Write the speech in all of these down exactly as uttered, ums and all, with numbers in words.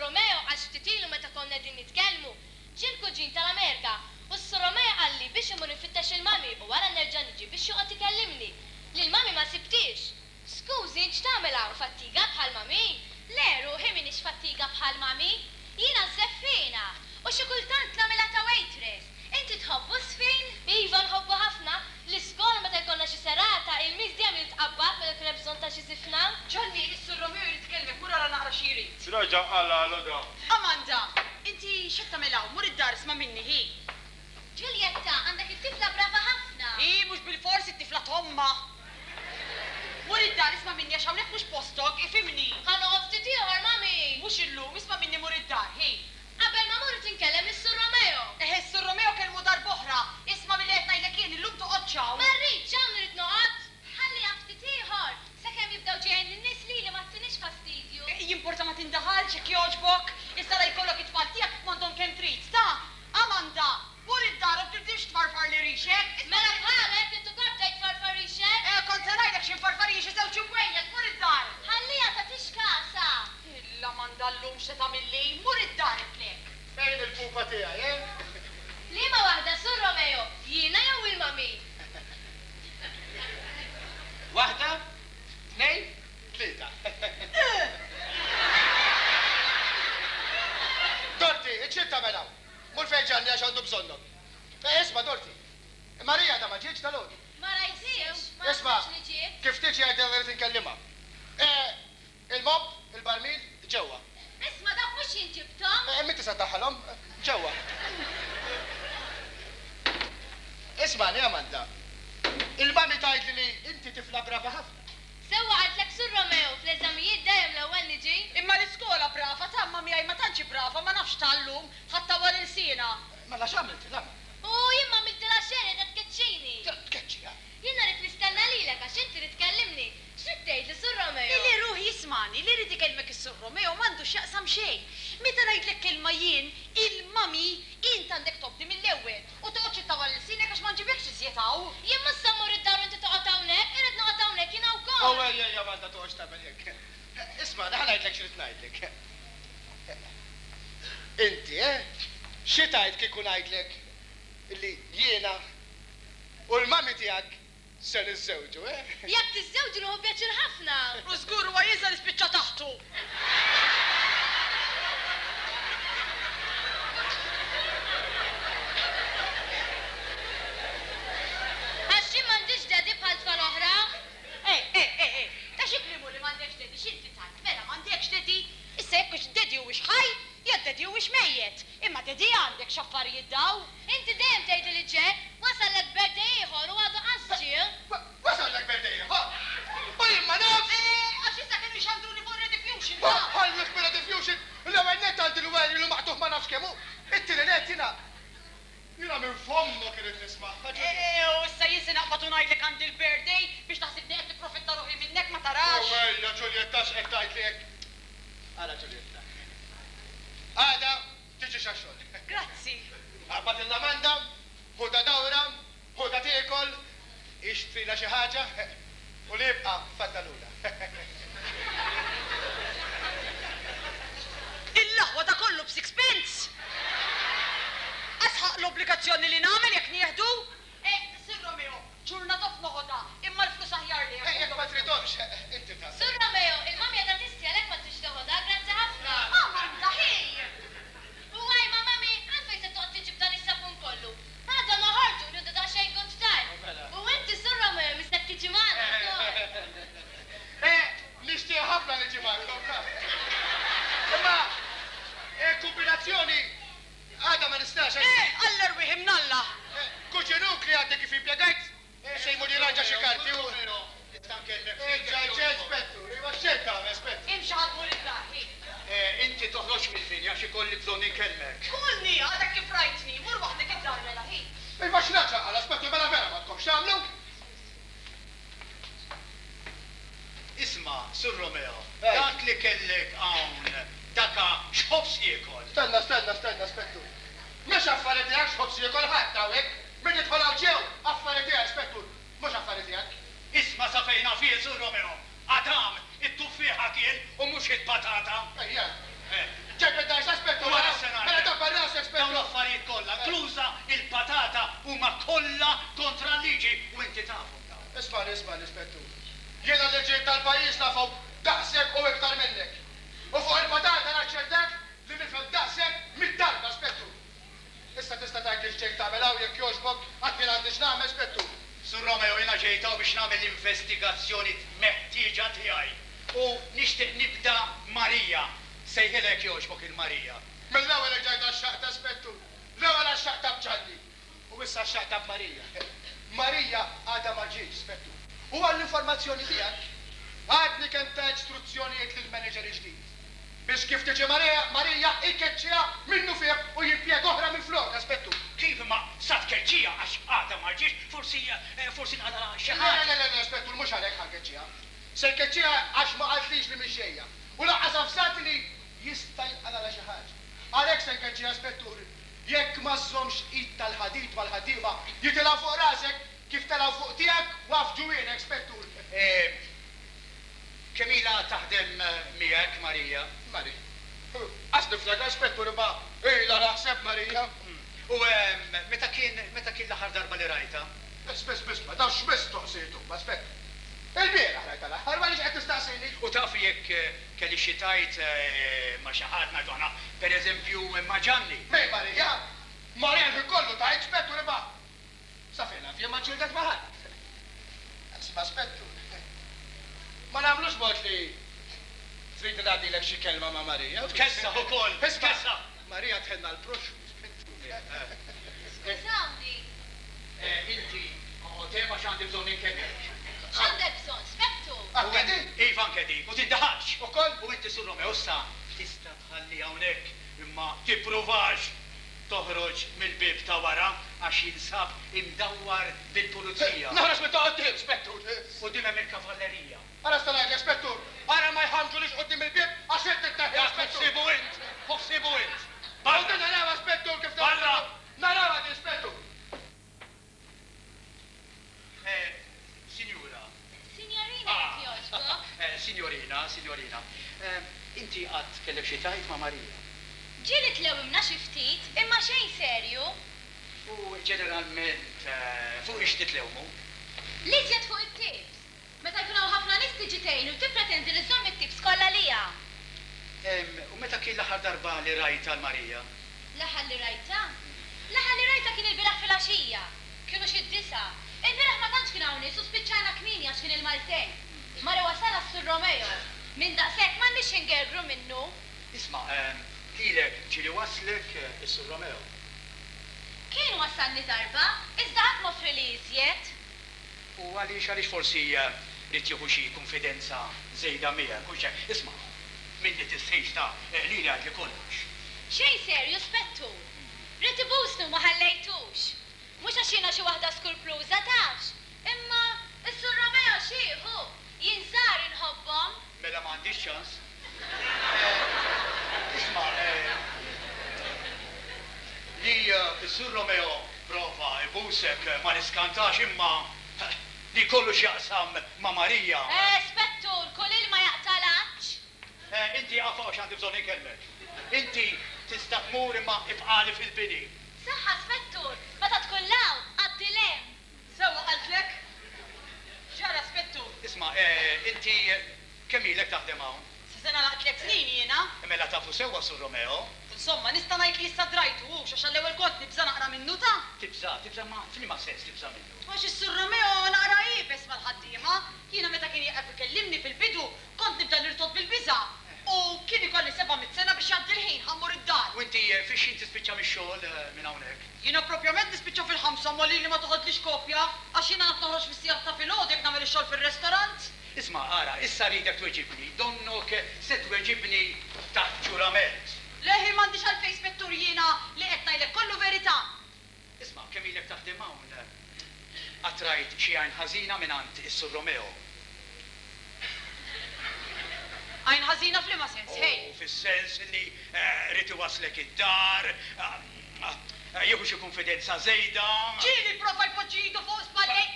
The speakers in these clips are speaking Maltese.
lis-Sur Romeo għax ftit ilu meta konna qegħdin nitkellmu, ġie l-kuġin tal-Amerika u s-Sur Romeo qalli biex immur infittex il-mami u wara nerġa' niġi biex joqgħod ikellimni. Lil mami ma sibtix. Skużi, int x'tagħmel hawn, fattiga bħal mami? Le, ruħi, m'iniex fattiga bħal mami. Jiena żeffiena u xi kultant nagħmilha ta' waitress. Inti tħobbu żfin? Iva, nħobbu ħafna. L-iskola meta jkollna xi serata, il-miss dejjem li tqabbad meta jkun hemm bżonn ta' xi żifna. Ġanni, is-Sur Romeo jrid ikellmek, mur ara naqra xi jrid. X'raġa' qalgħalu da? Amanda, inti x'qed tagħmel hawn? Mur id-dar, isma' minni, hi. Ġuljetta, għandek it-tifla brava ħafna. Hi, mhux bilfors it-tifla t'ommha. Mur id-dar, isma' minni, għax hawnhekk mhux postok, ifhimni. Ħa noqgħod ftit ieħor, mami. Mhux illum, isma' minni, mur id-dar, hi. Qabel ma mmur inkellem lis-Sur Romeo. Eħe, s-Sur Romeo kellmu darb'oħra. Isma' milli qed ngħidlek jien, illum toqgħodx hawn. Ma rridx, hawn irid noqgħod. Ħalliha ftit ieħor, sakemm jibdew ġejjin in-nies lili ma ttinix fastidju. Jimporta ma tindaħalx jekk jogħġbok. Issa la jkollok it-tfal tiegħek m'għandhom kemm trid, ta? Amanda, mur id-dar u tibdix tfarfar li rixek. Mela bħalek intu kont bdejt tfarfar rixek? Eh, kont se ngħidlek xi nfarfar xi żewġ imwejjed, mur id-dar. Ħalliha tagħtix kasha. Il-Amanda llum x'se tagħmilli, mur id-dar għedtlek. Fejn il-pupa tiegħi, eh? Liema waħda, Sur Romeo, jiena jew il-mami? Waħda, tnejn, tlieta. Dorti, iċ tagħmel hawn. Mur fejn Ġanni għax għandu bżonnok. Eh, isma' Dorti. Marija da ma ġietx dalgħodu. Ma rajthiex, ma Isma', naħsibx li ġiet. kif tiġi għidilha li rrid inkellimha. Eh, il-mop, il-barmil, ġewwa. Isma', dawk mhux jien ġibthom. Eh, min tista' ddaħħalhom? Ġewwa. Ismagħni, Amanda. Il-mami tgħidli li inti tifla brava ħafna. Sewwa qaltlek Sur Romeo, fl-eżamijiet dejjem l-ewwel niġi. Imma l-iskola brava, ta' ma miegħi ma tantx brava, ma nafx tal-lum, ħadd tawwal ilsienha. Mela x'għamilt, la? U jien ma għamiltilha xejn, qiegħda tkeċċini. Tkeċċiha. Jiena rrid nistenna lilek għax inti trid tkellimni. X'trid tgħidli, Sur Romeo? Li ruħi jismani, li rrid ikellmek is-Sur Romeo m'għandu x'jaqsam xejn. Meta ngħidlek kelma jien, il-mami, int għandek tobdi mill-ewwel u toqgħodx ittawwal ilsienek għax ma nġibekx iżjed hawn. Jien mhux se mmur id-dar u inti toqgħod hawnhekk, irrid noqgħod hawnhekk jiena wkoll. Oh, ejja, ejja, Amanda, toqgħodx tagħmel hekk. Isma', ħa ngħidlek x'rid ngħidlek. Inti, eh? Xi tgħid kieku ngħidlek illi jiena u l-mami tiegħek se niżżewġu, eh? Jekk tiżżewġu nieħu pjaċir ħafna. U żgur huwa jiża nispiċċa taħtu. Għax jien m'għandix daddy bħal tfal oħra. Eh, eh, eh, eh, ta' xi klimu li m'għandekx daddy, x'inti tgħid? Mela m'għandekx daddy? Issa jekk hux daddy huwiex ħaj, jew daddy huwiex mejjet. Imma daddy għandek x'affarijiet daw. Inti dejjem tgħidli li ġej, wasallek birthday ieħor u għadu qas ġie. Wasallek birthday ieħor? U jien ma nafx! Eh, għax issa kienu jxandruni fuq Rediffusion, ta' Ħalluk minn Rediffusion, l-ewwel nett għandi l-werju li maqtugħ ma nafx kemm hu. It-tieni nett jiena jiena minn fommok irid nisma'. Eh, u issa jien se naqbad u ngħidlek għandi l-birthday biex taħsibni qed nipprofitta ruħi minnek ma tarax. Oh, ejja, Ġuljetta, x'qed tgħidli hekk? Ara, Ġuljetta. Għada tiġi għax-xogħol. Grazzi. Aqbad l-Amanda, ħudha dawra, ħudha tiekol, ixtrila xi ħaġa u li jibqa' faddalula. Il-laħwa da kollu b'sixpence. Asħaq l-obbligazzjoni li nagħmel jekk nieħdu. Eh, Sir Romeo, ġurnata f'noħodha, imma l-flus aħjar li. Eh, jekk ma tridhomx, inti ta' Sur Romeo, il-mami qiegħda tistħi għalhekk ma tridx teħodha, grazzi ħafna. Amanda, ħej! U għajma mami, għalfejn se toqgħod tiġi b'dan is-sapun kollu. Għada noħorġu nieħdu daqsxejn good time. Mela. U inti Sur Romeo mistek tiġi magħna wkoll. Eh, nixtieq ħafna niġi magħkom. Imma, eh, kombinazzjoni għada ma nistax. Eh, alla rwieħ imnalla. Eh, Kuġinuk li għandek kif impjegajt, se jmur jirranġa xi karti u. Eh, ġa, ġa, spettu, iva xejn tagħmel, spettu. Imxi ħa tmur id-dar, ħi. Eh, inti toħroġ mill-binja għax ikolli bżonn inkellmek. Kulni, għadek kif rajtni, mur waħdek id-dar mela, ħi. Iva x'naċa għala, spettu, mela vera ma tkomx tagħmlu. Isma', Sur Romeo, Ej. dak li kellek hawn, daka x'ħobż jiekol. Stenna, stenna, stenna, spettu. Mhux affari tiegħek x'ħobż jiekol ħadd hawnhekk. Min jidħol hawn ġew, affari tiegħek, spettu. Mhux affari tiegħek. Isma' sa fejn naf jien, Sur Romeo. Adam, it-tuffieħa kien u mhux il-patata. Ejja. Eh. Ġej Isma', isma', l-ispettur. Jiena l-liġijiet tal-pajjiż nafhom daqshekk u iktar minnek. U fuq il-patata naċċertak li nifhem daqshekk mid-darba, spettur. Issa tista' tgħid x'ġejt tagħmel hawn jekk jogħġbok, għad jien għandi x'nagħmel, spettur. Sur Romeo, jiena ġejt hawn biex nagħmel l-investigazzjoni meħtieġa tiegħi. U nixtieq nibda Marija. Sejħilek jogħġbok il-Marija. Mill-ewwel ġejt għax-xaqta, spettur. L-ewwel għax-xaqta b'Ġanni. U issa x-xaqta b'Marija. Marija għadha ma ġietx, spettur. U għall-informazzjoni tiegħek, għadni kemm ta istruzzjonijiet lill-manager ġdid. Biex kif tiġi Marija, Marija ikeċċiha minnu fih u jimpjega oħra minn flok, spettur. Kif ma sa tkeċċiha għax għadha ma ġietx, forsi forsi nqalgħa xi Le, ħaġa. le, le, le, spettur, mhux għalhekk ħa nkeċċiha. Se nkeċċiha għax ma qaltlix li mhix ġejja. U lanqas avżati li jista' jinqalgħa xi ħaġa. Għalhekk se nkeċċiha, spettur, jekk ma żżommx id tal-ħadid mal-ħaddiema jitilgħu fuq rasek kif telgħu fuq tiegħek waf ġwienek, spettur. Kemm ilha taħdem miegħek Marija? Mari. Għax niftakar, spettur, imma ilha naħseb Marija. U meta kien meta kien l-aħħar darba li rajta? Biss, biss, biss, ma tafx mistoqsijiet huma, spettur. Il-bieraħ rajta l-aħħar, ma qed tistaqsini. U taf jekk kelli xi tajt ma' xi ħadd ngħidu aħna, pereżempju ma' Ġanni. Mej Marija? Marija l-ħin kollu tajt, spettur, imma sa fejn naf jien ma ġildet ma' ħadd. Isma', spettur. Ma nagħmlux mod li trid ngħaddilek xi kelma ma' Marija. Tkessaħ ukoll, Isma', tkessaħ. Marija tħenna l-proxxmu, spettur. Skużawni. Inti, tema x'għandi bżonn inkellmek. X'għandek bżonn, spettur? Anke din? Iva anke din, u tindaħalx. Ukoll? U inti Sur Romeo issa tista' tħalli hawnhekk imma tippruvax toħroġ mill-bieb ta' wara għax jinsab imdawwar bil-pulizija. Noħroġ minn ta' quddiem, spettur. Quddiem hemm il-kavallerija. Ara sta ngħidlek, spettur, ara ma jħamġulix quddiem il-bieb għax inti tneħħi, Dak spettur. ħsibu int, ħsibu int. Barra narawha, spettur, kif Barra! Narawha din, spettur. Signora. Signorina jekk jogħġbok. Signorina, signorina. Inti qatt kellek xi tajt ma' Marija? Ġieli tlewimna xi ftit, imma xejn serju. U ġeneralment fuq ix titlewmu? L-iżjed fuq it-tips. Meta jkun hawn ħafna nies tiġi tgħin u tippretendi li żżomm it-tips kollha lija. U meta kien l-aħħar darba li rajta l-Marija? L-aħħar li rajta? L-aħħar li rajta kien il-bieraħ filgħaxija. Kienu xi disa. Il-bieraħ ma tantx kien hawn nies u spiċċajna kmieni għax kien il-Maltejn. Mara wasal sur Romeo. Minn daqshekk m'għandniex ingergru minnu. Isma', lilek ġieli waslek is-Sur Romeo. Kien wasalni darba, iżda qatt m'offri li iżjed. U għaliex għaliex forsi rid jieħu xi konfidenza żejda miegħek u xejn. Isma', minni tistħix ta' lili għad li kollox. Xejn serju, spettur. Rid ibusni u ma ħallejtux. Mhux għax jiena xi waħda skurpluża tafx. Imma is-Sur Romeo xieħu, jien żgħar inħobbhom. Mela m'għandix ċans. Isma', li s-Sur Romeo prova ibusek ma niskantax imma li kollu x'jaqsam ma' Marija. Eh, spettur, kull ilma jaqta' l-għatx. Inti għafa għax għandi bżonn inkellmek. Inti tista' tmur imma ibqali fil-bini. Saħħa, spettur, meta tkun law, għaddi l-hemm. Sewwa qaltlek? X'ġara, spettur? Isma', inti kemm ilek taħdem hawn? Sa sena laqt tliet snin jiena. Mela tafu sewwa Sur Romeo. Insomma, nista' ngħid li issa drajtu hux għax għall-ewwel kont nibża' naqra minnu ta'. Tibża', tibża' ma f'liema sens tibża' minnu? Għax is-Sur Romeo naqra iebes mal-ħaddiema. Jiena meta kien jieqaf ikellimni fil-bidu, kont nibda nirtod bil-biża'. U kien ikolli seba' mitt sena biex jgħaddi l-ħin ħammur id-dar. U inti fix xi tispiċċa mix-xogħol minn hawnhekk? Jiena propjament nispiċċa fil-ħamsa ma lili ma toħodlix kopja għax jiena naf noħroġ fis-sigħat ta' filgħodu jekk nagħmel ix-xogħol fir-restorant. Isma', ara, issa rridek tweġibni, donnok se tweġibni taħt ġurament. Leħi m'għandix għalfejn spettur jiena li qed ngħidlek kollu verità. Isma', kemm ilek taħdem hawn? Qatt rajt xi għajn ħażina mingħand is-Sur Romeo. Għajn ħażina f'liema sens, hej? U fis-sens li rid iwaslek id-dar, jieħu xi konfidenza żejda. Ġieli prova jpoġġi idu fuq spallej.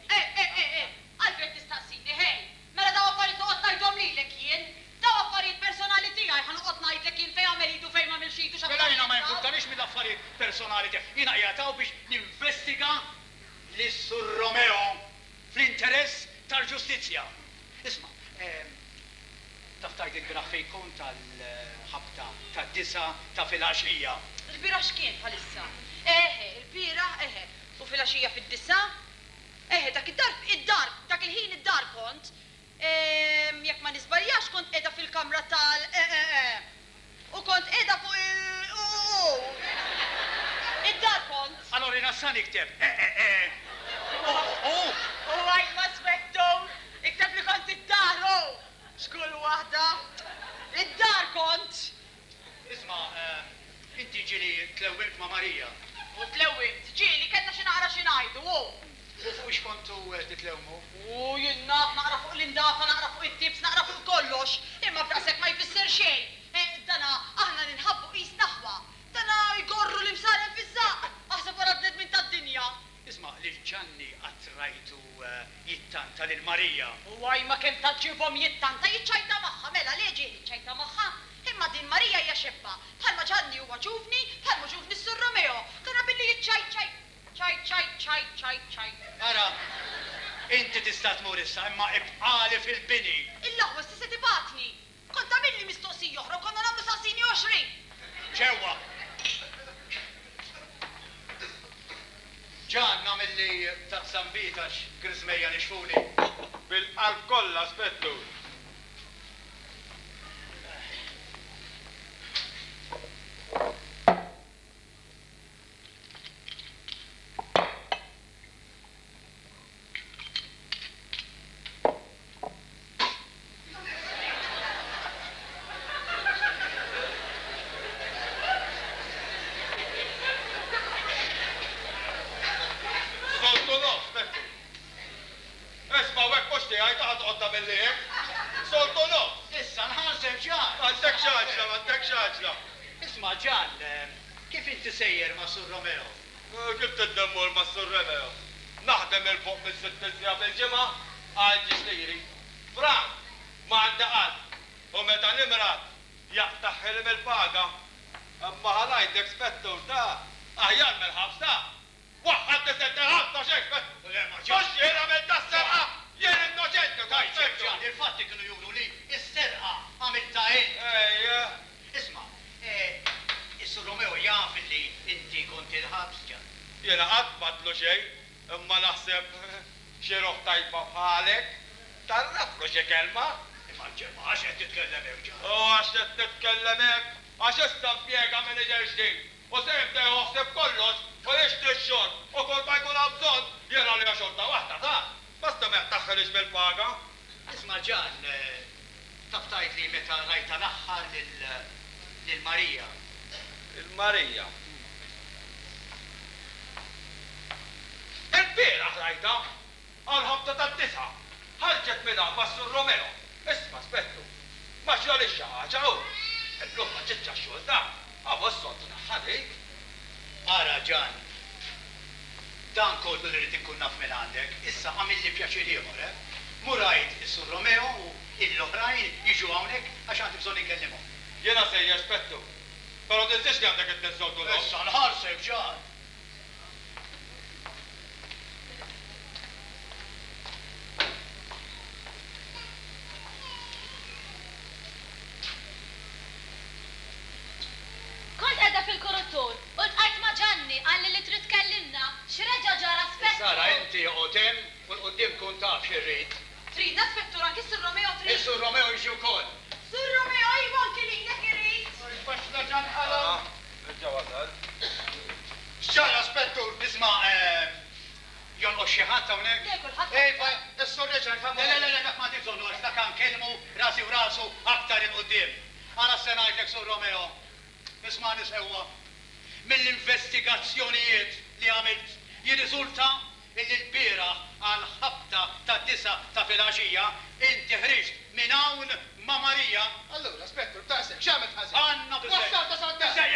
Eh, eh, eh, eh, għalfejn tistaqsini, hej. Mela daw affarijiet noqgħod ngħidhom lilek jien. Daw affarijiet personali tiegħi ħa noqgħod ngħidlek jien fejn għamel idu fejn m'għamilx idu x'affarijiet. Mela jiena ma jimpurtanix mill-affarijiet personali tiegħi. Jiena qiegħed hawn biex ninvestiga lis-Sur Romeo. Fl-interess tal-ġustizzja. Isma', taf tgħid il-bieraħ fejn kont għall-ħabta tad-disgħa ta' filgħaxija. Il-bieraħ x'kien bħalissa? Eħe, il-bieraħ, eħe. U filgħaxija fid-disgħa? Eħe, dak id-dar, id-dar, dak il-ħin id-dar kont. Jekk ma niżbaljax kont qiegħda fil-kamra tal e e e. U kont qiegħda fuq il u u u. Id-dar kont. Allora jiena sa nikteb e e e. U u u. U għajma Spettur, ikteb li kont id-dar, u. X'kull waħda. Id-dar kont. Isma', inti ġieli tlewwimt ma' Marija. U tlewwimt, ġieli kellna xi naqra xi ngħidu, u. U fuq x'kontu titlewmu? U jien naf naqra fuq l-indafa, naqra fuq it-tips, naqra fuq kollox, imma b'daqshekk ma jfisser xejn. Dana aħna ninħabbu qisna aħwa. Dana jgorru l-imsaren fiż-żaqq, aħseb wara l-bnedmin tad-dinja. Isma', lil Ġanni qatt rajtu jittanta lil Marija. U għaj ma kemm taġġibhom jittanta, jiċċajta magħha, mela le ġieli jiċċajta magħha. Imma din Marija hija xebba, bħalma Ġanni huwa ġuvni, bħalma ġuvni s-Sur Romeo. Dana billi jiċċajt ċaj ċaj ċaj ċaj ċaj. Ara, inti tista' tmur issa, imma ibqali fil-bini. Il-laħwa se tibatni. Kont għamilli mistoqsija oħra u konna nagħmlu saqsini għoxrin. Ġewwa. Ġan, nagħmilli taqsam bitax griżmejja nixfuli. Bil-qalb kollha, Spettur. Isma' Ġan, kif inti sejjer ma' Sur Romeo? Kif tiddemmur ma' Sur Romeo? Naħdem il-fuq minn sitt siegħa fil-ġimgħa għal ġisliri. Frank, ma għandi qatt. U meta nimrad, jaqtaħħilem il-paga. Imma ħa ngħidlek Spettur ta' aħjar mill-ħabs ta'. Waħħad tisent il-ħabs ta' xejn, Spettur. Mhux jien għamilt tas-serqa, jien innoċenti ta' Spettur. Il-fatti kienu juru li s-serqa għamilta int. Ejja. Isma', is-Sur Romeo jaf li inti kont il-ħabs Ġan. Jiena qatt m'għadtlu xejn, imma naħseb xi ruħ tajba bħalek tarraflu xi kelma. Imma ġemma għax qed titkellem hekk Ġan. U għax qed titkellem hekk, għax issa impjega manager ġdid. U se jibda joħseb kollox u jixtri x-xogħol u kull ma jkun hawn bżonn jiena li xorta waħda ta' basta ma jaqtaħħilix mill-paga. Isma' Ġan, taf tgħid li meta rajta l-aħħar lil Marija. Il-Marija. Il-bieraħ rajta għal-ħabta tad-disgħa. Ħarġet minn hawn mas-Sur Romeo. Isma' Spettur, ma ġralix xi ħaġa hu. Illum ma ġietx għax-xogħol ta' għaw s-soltu tagħha dik. Ara Ġan, dan kollu li rrid inkun naf minn għandek, issa għamilli pjaċir ieħor, eh? Mur għid is-Sur Romeo u l-oħrajn jiġu hawnhekk għax għandi bżonn inkellimhom. Jiena sejjer Spettur, però tinsiex li għandek it-soltu nofs. Issa nħarsek Ġan. Kont qiegħda fil-kurutur u ltqajt ma' Ġanni qalli li trid tkellimna x'reġa' ġara Spettur. Sara inti oqgħod hemm u l-quddiem kun taf x'irrid. Tridna Spettur anki Sur Romeo trid. Is-Sur Romeo jiġi wkoll. Sur Romeo iva anki lilek irid. Baxna Ġan ħala. Reġa' wasal. X'ġara Spettur? Isma' jonqos xi ħadd hawnhekk? Le, kulħadd. Ejfa, is-Sur reġa' nfahmu. Le, le, le, dak ma bżonnu għax dak nkellmu rasi u rasu aktar il quddiem. Ara se ngħidlek Sur Romeo. Isma' nisewwa. Mill-investigazzjonijiet li għamilt jirriżulta illi l-bieraħ għal ħabta ta' disgħa ta' filgħaxija inti ħriġt minn hawn ma' Marija. Allura, Spettur, daqshekk, x'għamilt ħażin? Għandna biżejjed. Wassalta sad-dar. Biżejjed.